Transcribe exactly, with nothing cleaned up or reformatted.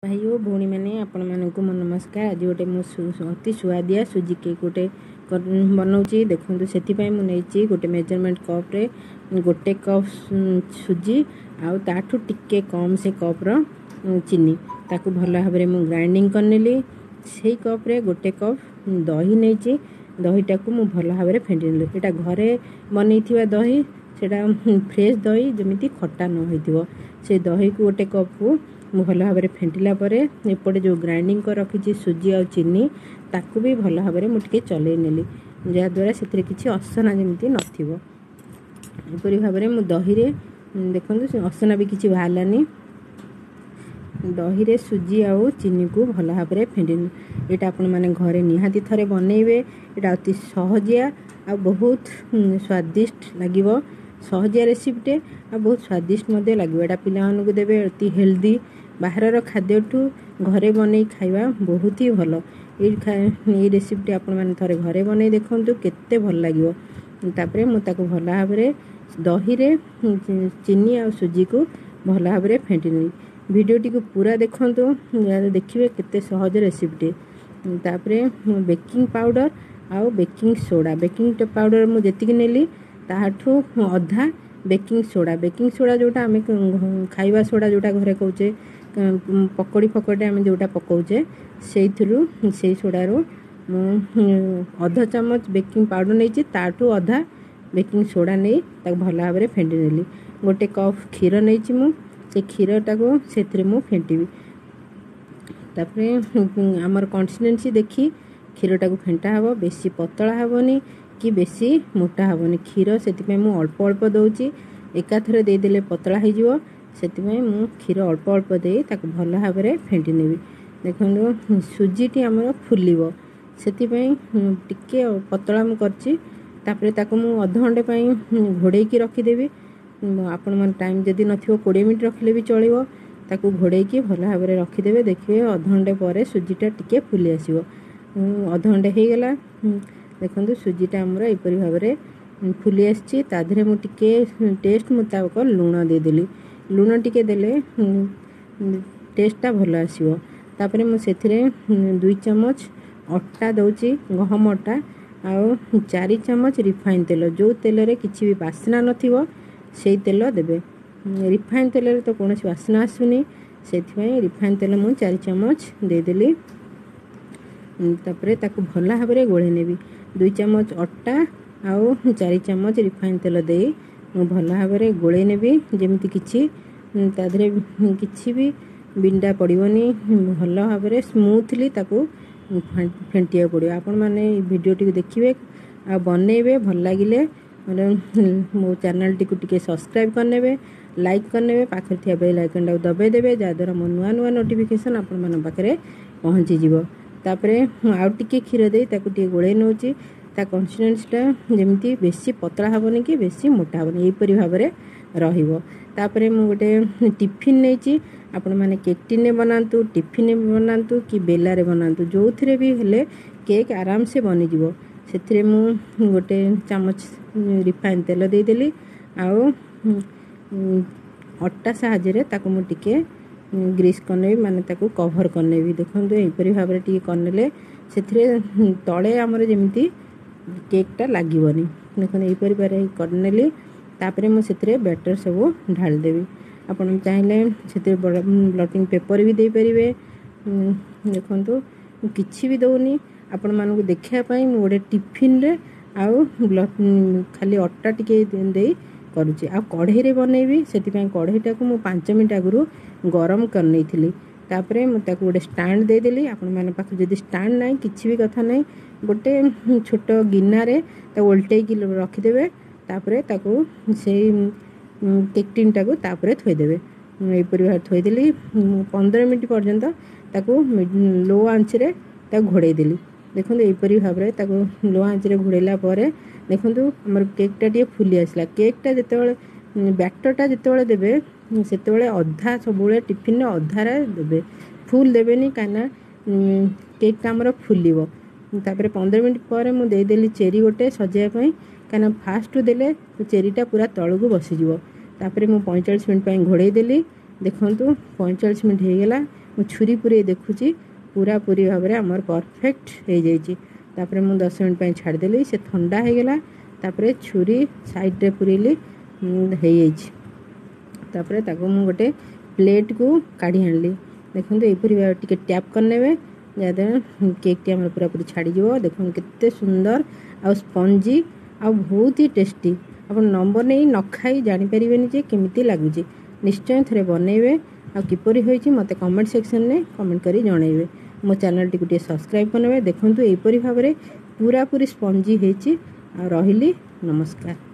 ଭାଇ ଓ ଭଉଣୀମାନେ, ଆପଣମାନଙ୍କୁ ମୋ ନମସ୍କାର। ଆଜି ଗୋଟେ ମୁଁ ଅତି ସୁଆଦିଆ ସୁଜି କେକ୍ ଗୋଟେ ବନାଉଛି, ଦେଖନ୍ତୁ। ସେଥିପାଇଁ ମୁଁ ନେଇଛି ଗୋଟେ ମେଜରମେଣ୍ଟ କପ୍ରେ ଗୋଟେ କପ୍ ସୁଜି ଆଉ ତାଠୁ ଟିକେ କମ୍ ସେ କପ୍ର ଚିନି। ତାକୁ ଭଲ ଭାବରେ ମୁଁ ଗ୍ରାଇଣ୍ଡିଙ୍ଗ କରିନେଲି। ସେଇ କପ୍ରେ ଗୋଟେ କପ୍ ଦହି ନେଇଛି। ଦହିଟାକୁ ମୁଁ ଭଲ ଭାବରେ ଫେଣ୍ଟି ନେଲି। ଏଇଟା ଘରେ ବନେଇଥିବା ଦହି, ସେଇଟା ଫ୍ରେଶ୍ ଦହି, ଯେମିତି ଖଟା ନ ହେଇଥିବ। ସେ ଦହିକୁ ଗୋଟେ କପ୍କୁ ମୁଁ ଭଲ ଭାବରେ ଫେଣ୍ଟିଲା ପରେ ଏପଟେ ଯେଉଁ ଗ୍ରାଇଣ୍ଡିଙ୍ଗ କରି ରଖିଛି ସୁଜି ଆଉ ଚିନି, ତାକୁ ବି ଭଲ ଭାବରେ ମୁଁ ଟିକେ ଚଲେଇ ନେଲି, ଯାହାଦ୍ୱାରା ସେଥିରେ କିଛି ଅସନା ଯେମିତି ନଥିବ। ଏପରି ଭାବରେ ମୁଁ ଦହିରେ, ଦେଖନ୍ତୁ, ସେ ଅସନା ବି କିଛି ବାହାରିଲାନି। ଦହିରେ ସୁଜି ଆଉ ଚିନିକୁ ଭଲ ଭାବରେ ଫେଣ୍ଟି। ଏଇଟା ଆପଣମାନେ ଘରେ ନିହାତି ଥରେ ବନେଇବେ। ଏଇଟା ଅତି ସହଜିଆ ଆଉ ବହୁତ ସ୍ୱାଦିଷ୍ଟ ଲାଗିବ। ସହଜିଆ ରେସିପିଟେ ଆଉ ବହୁତ ସ୍ୱାଦିଷ୍ଟ ମଧ୍ୟ ଲାଗିବ। ଏଇଟା ପିଲାମାନଙ୍କୁ ଦେବେ, ଅତି ହେଲ୍ଦି। ବାହାରର ଖାଦ୍ୟଠୁ ଘରେ ବନେଇ ଖାଇବା ବହୁତ ହି ଭଲ। ଏଇ ଏଇ ରେସିପିଟି ଆପଣମାନେ ଥରେ ଘରେ ବନେଇ ଦେଖନ୍ତୁ, କେତେ ଭଲ ଲାଗିବ। ତାପରେ ମୁଁ ତାକୁ ଭଲ ଭାବରେ ଦହିରେ ଚିନି ଆଉ ସୁଜିକୁ ଭଲ ଭାବରେ ଫେଣ୍ଟି ନେଲି। ଭିଡ଼ିଓଟିକୁ ପୁରା ଦେଖନ୍ତୁ, ଦେଖିବେ କେତେ ସହଜ ରେସିପିଟି। ତାପରେ ମୁଁ ବେକିଂ ପାଉଡ଼ର ଆଉ ବେକିଂ ସୋଡ଼ା, ବେକିଂ ପାଉଡ଼ର ମୁଁ ଯେତିକି ନେଲି ତାହାଠୁ ଅଧା ବେକିଂ ସୋଡ଼ା। ବେକିଂ ସୋଡ଼ା ଯେଉଁଟା ଆମେ ଖାଇବା ସୋଡ଼ା ଯେଉଁଟା ଘରେ କହୁଛେ, ପକୋଡ଼ି ଫକୋଡ଼ି ଆମେ ଯେଉଁଟା ପକାଉଛେ, ସେଇଥିରୁ ସେଇ ସୋଡ଼ାରୁ ମୁଁ ଅଧ ଚାମଚ ବେକିଂ ପାଉଡ଼ର ନେଇଛି, ତାଠୁ ଅଧା ବେକିଂ ସୋଡ଼ା ନେଇ ତାକୁ ଭଲ ଭାବରେ ଫେଣ୍ଟି ନେଲି। ଗୋଟେ କପ୍ କ୍ଷୀର ନେଇଛି ମୁଁ, ସେ କ୍ଷୀରଟାକୁ ସେଥିରେ ମୁଁ ଫେଣ୍ଟିବି। ତାପରେ ଆମର କନସିଷ୍ଟେନ୍ସି ଦେଖି କ୍ଷୀରଟାକୁ ଫେଣ୍ଟା ହେବ। ବେଶୀ ପତଳା ହେବନି କି ବେଶୀ ମୋଟା ହେବନି କ୍ଷୀର, ସେଥିପାଇଁ ମୁଁ ଅଳ୍ପ ଅଳ୍ପ ଦେଉଛି। ଏକାଥରେ ଦେଇଦେଲେ ପତଳା ହେଇଯିବ, ସେଥିପାଇଁ ମୁଁ କ୍ଷୀର ଅଳ୍ପ ଅଳ୍ପ ଦେଇ ତାକୁ ଭଲ ଭାବରେ ଫେଣ୍ଟି ନେବି। ଦେଖନ୍ତୁ, ସୁଜିଟି ଆମର ଫୁଲିବ, ସେଥିପାଇଁ ଟିକେ ପତଳା ମୁଁ କରିଛି। ତାପରେ ତାକୁ ମୁଁ ଅଧଘଣ୍ଟେ ପାଇଁ ଘୋଡ଼େଇକି ରଖିଦେବି। ଆପଣମାନେ ଟାଇମ୍ ଯଦି ନଥିବ, କୋଡ଼ିଏ ମିନିଟ୍ ରଖିଲେ ବି ଚଳିବ। ତାକୁ ଘୋଡ଼େଇକି ଭଲ ଭାବରେ ରଖିଦେବେ। ଦେଖିବେ, ଅଧଘଣ୍ଟେ ପରେ ସୁଜିଟା ଟିକେ ଫୁଲି ଆସିବ। ଅଧଘଣ୍ଟେ ହେଇଗଲା। ଦେଖନ୍ତୁ, ସୁଜିଟା ଆମର ଏପରି ଭାବରେ ଫୁଲି ଆସିଛି। ତା ଦେହରେ ମୁଁ ଟିକେ ଟେଷ୍ଟ ମୁତାବକ ଲୁଣ ଦେଇଦେଲି। ଲୁଣ ଟିକେ ଦେଲେ ଟେଷ୍ଟଟା ଭଲ ଆସିବ। ତାପରେ ମୁଁ ସେଥିରେ ଦୁଇ ଚାମଚ ଅଟା ଦେଉଛି, ଗହମ ଅଟା, ଆଉ ଚାରି ଚାମଚ ରିଫାଇନ୍ ତେଲ। ଯେଉଁ ତେଲରେ କିଛି ବି ବାସ୍ନା ନଥିବ, ସେଇ ତେଲ ଦେବେ। ରିଫାଇନ୍ ତେଲରେ ତ କୌଣସି ବାସ୍ନା ଆସୁନି, ସେଥିପାଇଁ ରିଫାଇନ୍ ତେଲ ମୁଁ ଚାରି ଚାମଚ ଦେଇଦେଲି। ତାପରେ ତାକୁ ଭଲ ଭାବରେ ଗୋଳେଇ ନେବି। ଦୁଇ ଚାମଚ ଅଟା ଆଉ ଚାରି ଚାମଚ ରିଫାଇନ୍ ତେଲ ଦେଇ ମୁଁ ଭଲ ଭାବରେ ଗୋଳେଇ ନେବି, ଯେମିତି କିଛି ତା ଦେହରେ କିଛି ବି ବିଣ୍ଡା ପଡ଼ିବନି। ଭଲ ଭାବରେ ସ୍ମୁଥଲି ତାକୁ ଫେଣ୍ଟିବାକୁ ପଡ଼ିବ। ଆପଣମାନେ ଏଇ ଭିଡ଼ିଓଟିକୁ ଦେଖିବେ ଆଉ ବନେଇବେ। ଭଲ ଲାଗିଲେ ମୋ ଚ୍ୟାନେଲଟିକୁ ଟିକେ ସବସ୍କ୍ରାଇବ୍ କରିନେବେ, ଲାଇକ୍ କରିନେବେ, ପାଖରେ ଥିବା ବେଲ୍ ଆଇକନ୍ଟାକୁ ଦବାଇ ଦେବେ, ଯାହାଦ୍ୱାରା ମୋ ନୂଆ ନୂଆ ନୋଟିଫିକେସନ୍ ଆପଣମାନଙ୍କ ପାଖରେ ପହଞ୍ଚିଯିବ। ତାପରେ ମୁଁ ଆଉ ଟିକେ କ୍ଷୀର ଦେଇ ତାକୁ ଟିକେ ଗୋଳେଇ ନେଉଛି। ତା କନସିଷ୍ଟେନ୍ସିଟା ଯେମିତି ବେଶୀ ପତଳା ହେବନି କି ବେଶୀ ମୋଟା ହେବନି, ଏହିପରି ଭାବରେ ରହିବ। ତାପରେ ମୁଁ ଗୋଟେ ଟିଫିନ୍ ନେଇଛି। ଆପଣମାନେ କେକ୍ ଟିନ୍ରେ ବନାନ୍ତୁ, ଟିଫିନ୍ରେ ବନାନ୍ତୁ କି ବେଲାରେ ବନାନ୍ତୁ, ଯେଉଁଥିରେ ବି ହେଲେ କେକ୍ ଆରାମସେ ବନିଯିବ। ସେଥିରେ ମୁଁ ଗୋଟେ ଚାମଚ ରିଫାଇନ୍ ତେଲ ଦେଇଦେଲି ଆଉ ଅଟା ସାହାଯ୍ୟରେ ତାକୁ ମୁଁ ଟିକେ ଗ୍ରୀସ୍ କରିନେବି, ମାନେ ତାକୁ କଭର୍ କରିନେବି। ଦେଖନ୍ତୁ, ଏହିପରି ଭାବରେ ଟିକେ କରିନେଲେ ସେଥିରେ ତଳେ ଆମର ଯେମିତି କେକ୍ଟା ଲାଗିବନି। ଦେଖନ୍ତୁ, ଏହିପରି ଭାବରେ କରିନେଲି। ତାପରେ ମୁଁ ସେଥିରେ ବ୍ୟାଟର୍ ସବୁ ଢାଳିଦେବି। ଆପଣ ଚାହିଁଲେ ସେଥିରେ ବ୍ଲଟିଂ ପେପର୍ ବି ଦେଇପାରିବେ। ଦେଖନ୍ତୁ, ମୁଁ କିଛି ବି ଦେଉନି। ଆପଣମାନଙ୍କୁ ଦେଖିବା ପାଇଁ ମୁଁ ଗୋଟେ ଟିଫିନରେ ଆଉ ଖାଲି ଅଟା ଟିକେ ଦେଇ କରୁଛି। ଆଉ କଢ଼େଇରେ ବନେଇବି, ସେଥିପାଇଁ କଢ଼େଇଟାକୁ ମୁଁ ପାଞ୍ଚ ମିନିଟ୍ ଆଗରୁ ଗରମ କରିନେଇଥିଲି। ତାପରେ ମୁଁ ତାକୁ ଗୋଟେ ଷ୍ଟାଣ୍ଡ ଦେଇଦେଲି। ଆପଣମାନଙ୍କ ପାଖରେ ଯଦି ଷ୍ଟାଣ୍ଡ ନାହିଁ, କିଛି ବି କଥା ନାହିଁ, ଗୋଟେ ଛୋଟ ଗିନାରେ ତାକୁ ଓଲଟେଇକି ରଖିଦେବେ। ତାପରେ ତାକୁ ସେଇ କେକ୍ ଟିନ୍ଟାକୁ ତାପରେ ଥୋଇଦେବେ। ମୁଁ ଏହିପରି ଭାବରେ ଥୋଇଦେଲି। ପନ୍ଦର ମିନିଟ୍ ପର୍ଯ୍ୟନ୍ତ ତାକୁ ଲୋ ଆଞ୍ଚରେ ତାକୁ ଘୋଡ଼େଇ ଦେଲି। ଦେଖନ୍ତୁ, ଏହିପରି ଭାବରେ ତାକୁ ଲୋ ଆଞ୍ଚରେ ଘୋଡ଼େଇଲା ପରେ ଦେଖନ୍ତୁ, ଆମର କେକ୍ଟା ଟିକେ ଫୁଲି ଆସିଲା। କେକ୍ଟା ଯେତେବେଳେ, ବ୍ୟାଟରଟା ଯେତେବେଳେ ଦେବେ, ସେତେବେଳେ ଅଧା, ସବୁବେଳେ ଟିଫିନରେ ଅଧାରେ ଦେବେ, ଫୁଲ୍ ଦେବେନି, କାହିଁକିନା କେକ୍ଟା ଆମର ଫୁଲିବ। ତାପରେ ପନ୍ଦର ମିନିଟ୍ ପରେ ମୁଁ ଦେଇଦେଲି ଚେରି ଗୋଟେ ସଜେଇବା ପାଇଁ, କାହିଁକିନା ଫାଷ୍ଟରୁ ଦେଲେ ଚେରିଟା ପୁରା ତଳକୁ ବସିଯିବ। ତାପରେ ମୁଁ ପଇଁଚାଳିଶ ମିନିଟ୍ ପାଇଁ ଘୋଡ଼େଇ ଦେଲି। ଦେଖନ୍ତୁ, ପଇଁଚାଳିଶ ମିନିଟ୍ ହେଇଗଲା। ମୁଁ ଛୁରୀ ପୁରେଇ ଦେଖୁଛି, ପୁରାପୁରି ଭାବରେ ଆମର ପରଫେକ୍ଟ ହେଇଯାଇଛି। ତାପରେ ମୁଁ ଦଶ ମିନିଟ୍ ପାଇଁ ଛାଡ଼ିଦେଲି, ସେ ଥଣ୍ଡା ହେଇଗଲା। ତାପରେ ଛୁରୀ ସାଇଡ଼୍ରେ ପୁରେଇଲି, ହେଇଯାଇଛି। ତାପରେ ତାକୁ ମୁଁ ଗୋଟେ ପ୍ଲେଟ୍କୁ କାଢ଼ି ଆଣିଲି। ଦେଖନ୍ତୁ, ଏହିପରି ଭାବେ ଟିକେ ଟ୍ୟାପ୍ କରିନେବେ, ଯାହାଦ୍ୱାରା କେକ୍ଟି ଆମର ପୁରାପୁରି ଛାଡ଼ିଯିବ। ଦେଖନ୍ତୁ କେତେ ସୁନ୍ଦର ଆଉ ସ୍ପଞ୍ଜି ଆଉ ବହୁତ ହି ଟେଷ୍ଟି। ଆପଣ ନ ବନେଇ ନ ଖାଇ ଜାଣିପାରିବେନି ଯେ କେମିତି ଲାଗୁଛି। ନିଶ୍ଚୟ ଥରେ ବନେଇବେ ଆଉ କିପରି ହୋଇଛି ମୋତେ କମେଣ୍ଟ ସେକ୍ସନରେ କମେଣ୍ଟ କରି ଜଣାଇବେ। ମୋ ଚ୍ୟାନେଲଟିକୁ ଟିକେ ସବସ୍କ୍ରାଇବ୍ କରିନେବେ। ଦେଖନ୍ତୁ, ଏହିପରି ଭାବରେ ପୁରାପୁରି ସ୍ପଞ୍ଜି ହେଇଛି। ଆଉ ରହିଲି, ନମସ୍କାର।